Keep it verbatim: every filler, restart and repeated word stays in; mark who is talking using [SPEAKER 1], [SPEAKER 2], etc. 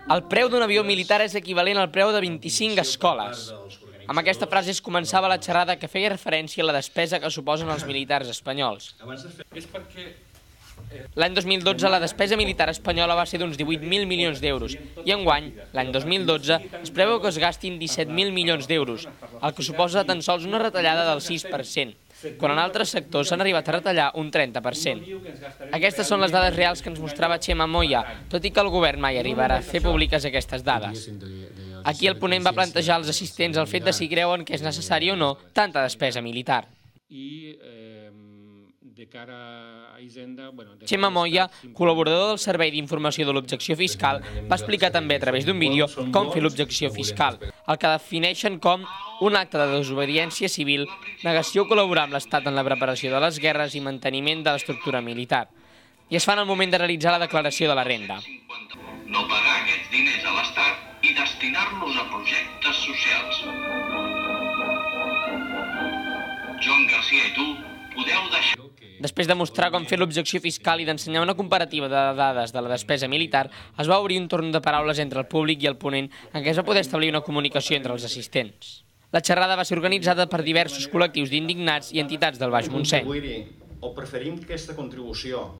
[SPEAKER 1] El preu d'un avió militar és equivalent al preu de vint-i-cinc escoles. Amb aquesta frase es començava la xerrada que feia referència a la despesa que suposen els militars espanyols. L'any dos mil dotze la despesa militar espanyola va ser d'uns divuit mil milions d'euros i enguany, l'any dos mil dotze, es preveu que es gastin disset mil milions d'euros, el que suposa tan sols una retallada del sis per cent, quan en altres sectors s'han arribat a retallar un trenta per cent. Aquestes són les dades reals que ens mostrava Txema Moya, tot i que el govern mai arribarà a fer públiques aquestes dades. Aquí el ponent va plantejar als assistents el fet de si creuen que és necessari o no tanta despesa militar. Txema Moya, col·laborador del Servei d'Informació de l'Objecció Fiscal, va explicar també a través d'un vídeo com fer l'objecció fiscal, el que defineixen com un acte de desobediència civil, negació o col·laborar amb l'Estat en la preparació de les guerres i manteniment de l'estructura militar. I es fa en el moment de realitzar la declaració de la renda.
[SPEAKER 2] No pagar aquests diners a l'Estat i destinar-los a projectes socials. Joan Garcia i tu podeu deixar...
[SPEAKER 1] Després de mostrar com fer l'objecció fiscal i d'ensenyar una comparativa de dades de la despesa militar, es va obrir un torn de paraules entre el públic i el ponent en què es va poder establir una comunicació entre els assistents. La xerrada va ser organitzada per diversos col·lectius d'indignats i entitats del Baix Montseny.
[SPEAKER 3] O preferim que aquesta contribució